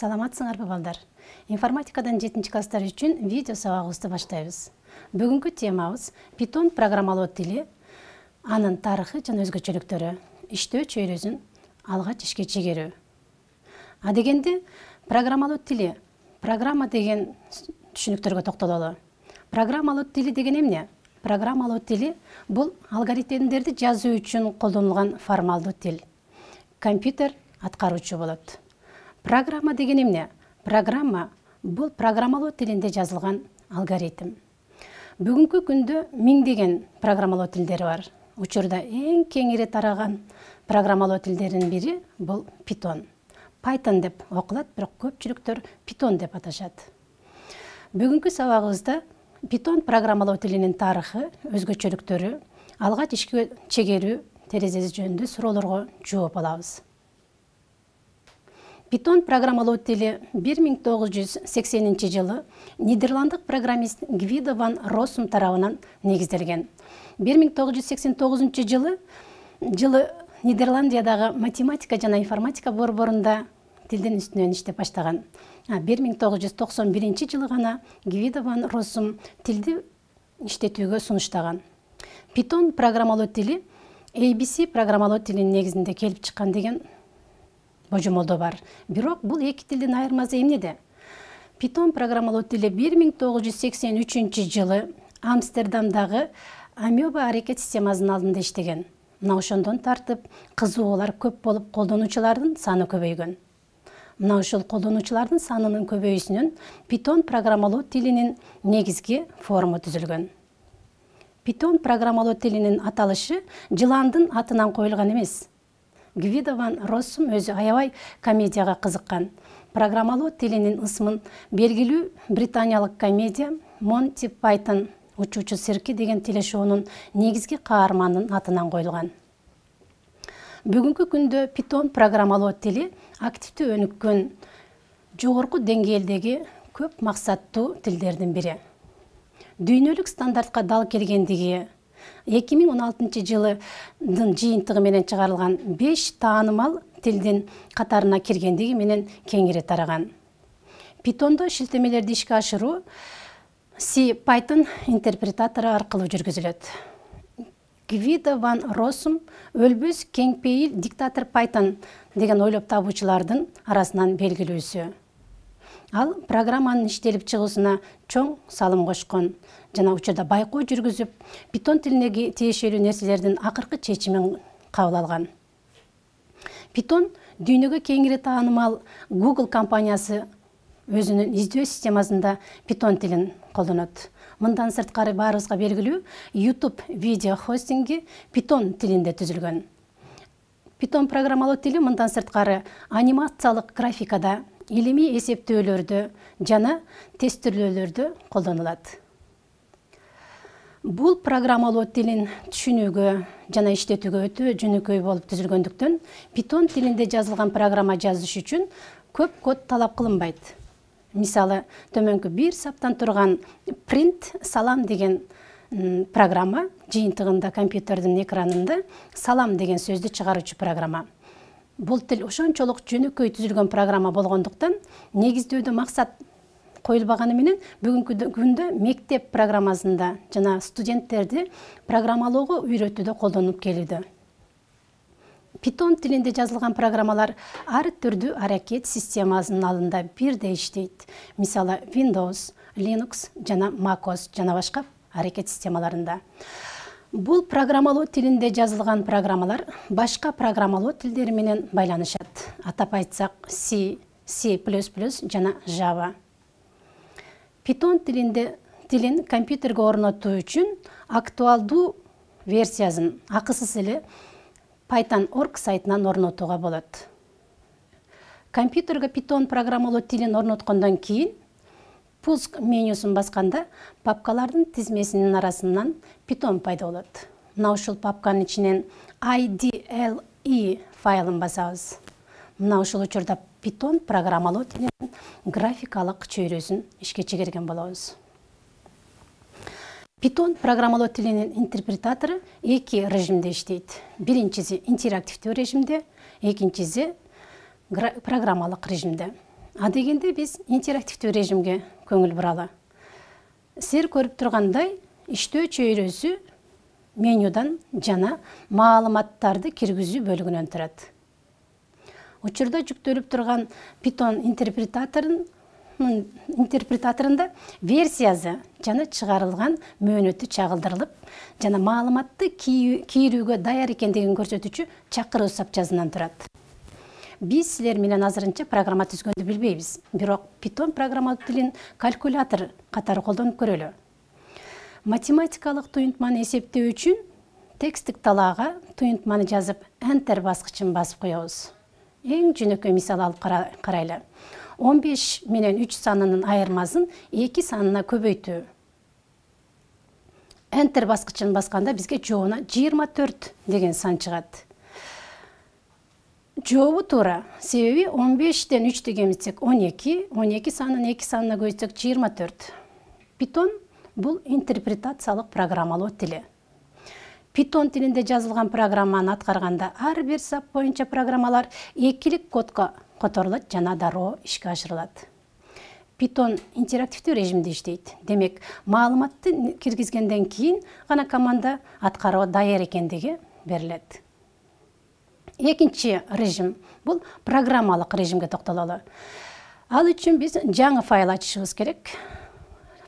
Саламатсыңарбы балдар? Информатикадан 7 класстар үчүн видео сабагыбызды баштайбыз. Бүгүнкү темабыз Python программалоо тили, анын тарыхы жана өзгөчөлүктөрү, иштөө чөйрөсүн алгач ишке чегерүү. А дегенде программалоо тили, программа деген түшүнүктөргө токтололу. Программалоо тили деген эмне? Программалоо тили бул алгоритмдерди жазуу үчүн колдонулган формалдуу тил. Компьютер аткаруучу болот. Программа деген эмне? Программа бул программалоо тилинде жазылган алгоритм. Бүгүнкү күндө миңдеген программалоо тилдери бар. Учурда эң кеңири тараган программалоо тилдеринин бири бул Python. Python деп окулат, бирок көпчүлүктөр Python деп аташат. Бүгүнкү сабагыбызда Python программалоо тилинин тарыхы, өзгөчөлүктөрү, алгач ишке чегерүү терезеси жөнүндө суроолорго жооп алабыз. Python программалоо тили 1980 жылы нидерландык программист Гвидо ван Россум тарабынан негизделген. 1989 жылы Нидерландиядагы математика жана информатика борборунда тилдин үстүнөн иштеп баштаган. 1991 жылы гана Гвидо ван Россум тилди иштетүүгө сунуштаган. Python программалоо тили ABC программалоо тилинин негизинде келип чыккан деген божомолдоо бар. Бирок бул эки тилдин айырмасы эмнеде? Python программалоо тили 1983 жылы Амстердамдагы Амеба аракет системасынын алдында иштеген. Мына ошондон тартып кызыгуулар көп болуп, колдонуучулардын саны көбөйгөн. Мына ушул колдонуучулардын санынын көбөйүүсүнөн Python программалоо тилинин негизги форму түзүлгөн. Python программалоо тилинин аталышы жыландын атынан коюлган эмес. Гвидо ван Россум өзү аябай комедияга кызыккан. Программалоо тилинин ысмын белгилүү британиялык комедия Монти Пайтон учуучу цирки деген телешоунун негизги каарманынын атынан коюлган. Бүгүнкү күндө Python программалоо тили активдүү өнүккөн, жогорку деңгээлдеги көп максаттуу тилдердин бири. Дүйнөлүк стандартка дал келгендиги 2016 жылдын жыйынтыгы менен чыгарылган 5 таанымал тилдин катарына киргендиги менен кеңири тараган. Python'до шилтемелерди ишке ашыруу C-Python интерпретатору аркылуу жүргүзүлөт. Гвидо ван Россум өлбөс кең пейил диктатор Python деген ойлоп табуучулардын арасынан белгилүүсү. Ал программанын иштелип чыгуусуна чоң салым кошкон жана учурда байкоо жүргүзүп, Python тилине тиешелүү нерселердин акыркы чечимин кабыл алган. Python дүйнөгө кеңири таанымал Google компаниясы өзүнүн издөө системасында Python тилин колдонот. Мындан сырткары баарыбызга белгилүү YouTube видео хостинги Python тилинде түзүлгөн. Python программалоо тили мындан сырткары анимациялык графикада, илимий эсептөөлөрдө жана тестирлөөлөрдө колдонулат. Бул программалоо тилин түшүнүүгө жана иштетүүгө өтө жөнөкөй болуп түзүлгөндүктөн, Python тилинде жазылган программа жазыш үчүн көп код талап кылынбайт. Мисалы, төмөнкү бир саптан турган print салам деген программа жыйынтыгында компьютердин экранында салам деген сөздү чыгаруучу программа. Бул тил ошончолук жөнөкөй түзүлгөн программа болгондуктан, негиздөөдө максат коюлбаганы менен бүгүнкү күндө мектеп программасында жана студенттерди программалоого үйрөтүүдө колдонуп келүүдө. Python тилинде жазылган программалар ар түрдүү аракет системасынын алдында бирдей иштейт. Мисалы, Windows, Linux жана MacOS жана башка аракет системаларында. Бул программалоо тилинде жазылган программалар башка программалоо тилдери менен байланышат. Атап айтсак, C, C++ жана Java. Python тилин компьютерге орнотуу үчүн актуалдуу версиясын акысыз эле Python.org сайтынан орнотууга болот. Компьютерге Python программалоо тилин орноткондон кийин пуск менюсун басканда папкалардын тизмесинин арасынан Python пайда болот. Мына ушул папканын ичинен IDLE файлын басабыз. Мына ушул учурда Python программалоо тилинин графикалык чөйрөсүн ишке чегерген болобуз. Python программалоо тилинин интерпретатору эки режимде иштейт. Биринчиси интерактивдүү режимде, экинчиси программалык режимде. Адегенде биз интерактивдүү режимге көңүл буралы. Силер көрүп тургандай, иштөө чөйрөсү менюдан жана маалыматтарды киргизүү бөлүгүнөн турат. Учурда жүктөлүп турган Python интерпретаторунда версиясы жана чыгарылган мөөнөтү чагылдырылып, жана маалыматты кийрүүгө даяр экендигин көрсөтүүчү чакыруу сапчасынан турат. Биз силер менен азырынча программа түзгөндү билбейбиз, бирок Python программалык тилин калькулятор катары колдонуп көрөлү. Математикалык туюнтманы эсептөө үчүн тексттик талаага туюнтманы жазып, Enter баскычын басып коебуз. Эң жөнөкөй мисал алып карайлы. 15 менен 3 санынын айырмасын 2 санына көбөйтүү. Enter баскычын басканда бизге жообуна 24 деген сан чыгат. Жообу туура, себеби 15ден 3 кемитсек 12, 12 санын 2 санына көбөйтсөк 24. Python бул интерпретациялык программалоо тили. Python тилинде жазылган программаны аткарганда ар бир сап боюнча программалар экилик кодко которулат жана дароо ишке ашырылат. Python интерактивдүү режимде иштейт. Демек, маалыматты киргизгенден кийин гана команда аткарууга даяр экендиги берилет. Экинчи режим бул программалык режимге токтололу. Ал үчүн биз жаңы файл ачышыбыз керек.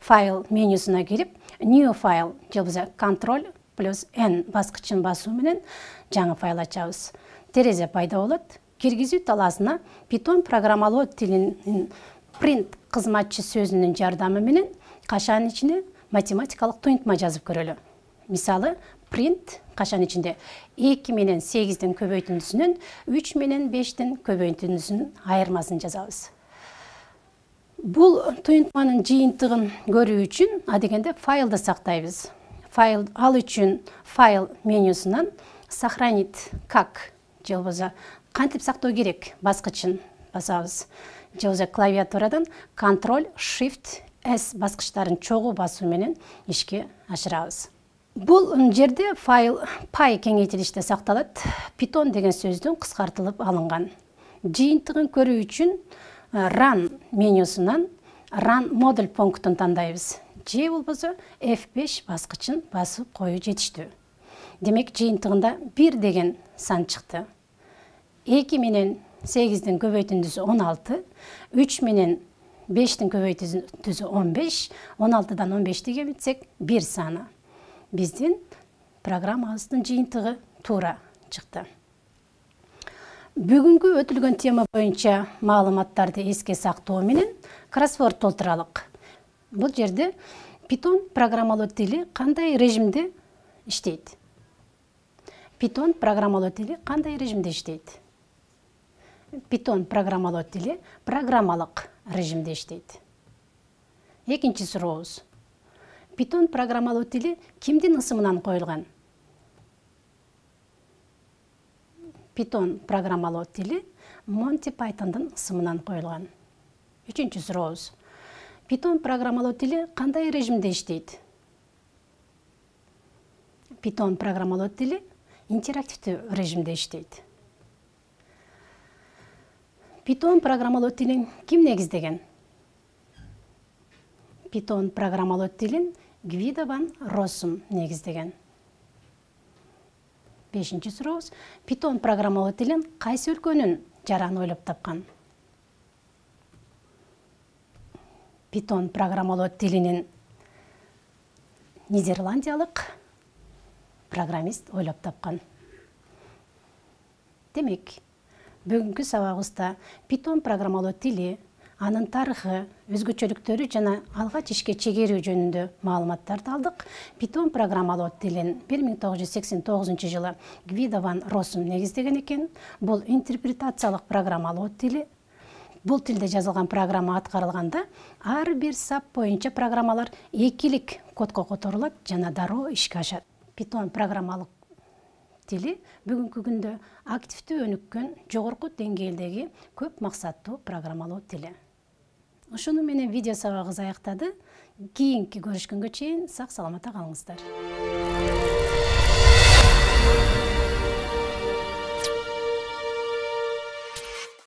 Файл менюсуна кирип, New File же болбосо Ctrl+N баскычын басуу менен жаңы файл ачабыз. Терезе пайда болот. Киргизүү талаасына Python программалоо тилинин print кызматчы сөзүнүн жардамы менен кашанын ичине математикалык туюнтма жазып көрөлү. Мисалы, print кашан ичинде 2 менен 8дин көбөйтүндүсүнөн 3 менен 5дин көбөйтүндүсүнүн айырмасын жазабыз. Бул туюнтманын жыйынтыгын көрүү үчүн адегенде файлды сактайбыз. Ал үчүн файл менюсунан сохранить как же болбосо кантип сактоо керек баскычын басабыз. Же болбосо клавиатурадан Ctrl+Shift+S баскычтарын чогуу басуу менен ишке ашырабыз. Бул жерде файл py кеңейтилиште сакталат. Python деген сөздүн кыскартылып алынган. Жыйынтыгын көрүү үчүн Run менюсунан Run модуль пунктун тандайбыз. Же болбосо F5 баскычын басып коюу жетиштүү. Демек, жыйынтыгында 1 деген сан чыкты. 2 менен 8дин көбөйтүндүсү 16, 3 менен 5дин көбөйтүндүсү 15, 16дан 15ди кемитсек 1 саны. Биздин программабыздын жыйынтыгы туура чыкты. Бүгүнкү өтүлгөн тема боюнча маалыматтарды эске сактоо менен кроссворд толтуралык. Бул жерде Python программалоо тили кандай режимде иштейт? Python программалоо тили кандай режимде иштейт? Python программалоо тили программалык режимде иштейт. Экинчи сурообуз. Python программалоо тили кимдин ысымынан коюлган? Python программалоо тили Monty Pythondун ысымынан коюлган. Үчүнчү сурообуз. Python программалоо тили кандай режимде иштейт? Python программалоо тили интерактивдүү режимде иштейт. Python программалоо тилин ким негиздеген? Python программалоо тилин Гвидо ван Россум негиздеген. Бешинчи сурообуз. Python программалоо тилин кайсы өлкөнүн жараны ойлоп тапкан? Python программалоо тилинин нидерландиялык программист ойлоп тапкан. Демек, бүгүнкү сабагыбызда Python программалоо тили, анын тарыхы, өзгөчөлүктөрү жана алгач ишке чегерүү жөнүндө маалыматтарды алдык. Python программалоо тилин 1989 жылы Гвидо ван Россум негиздеген экен. Бул интерпретациялык программалоо тили. Бул тилде жазылган программа аткарылганда ар бир сап боюнча программалар экилик кодко которулат жана дароо ишке ашат. Python программалык тили бүгүнкү күндө активдүү өнүккөн жогорку деңгээлдеги көп максаттуу программалоо тили. Ушуну менен видео сабагыбыз аяктады. Кийинки көрүшкөнгө чейин сак саламатта калыңыздар.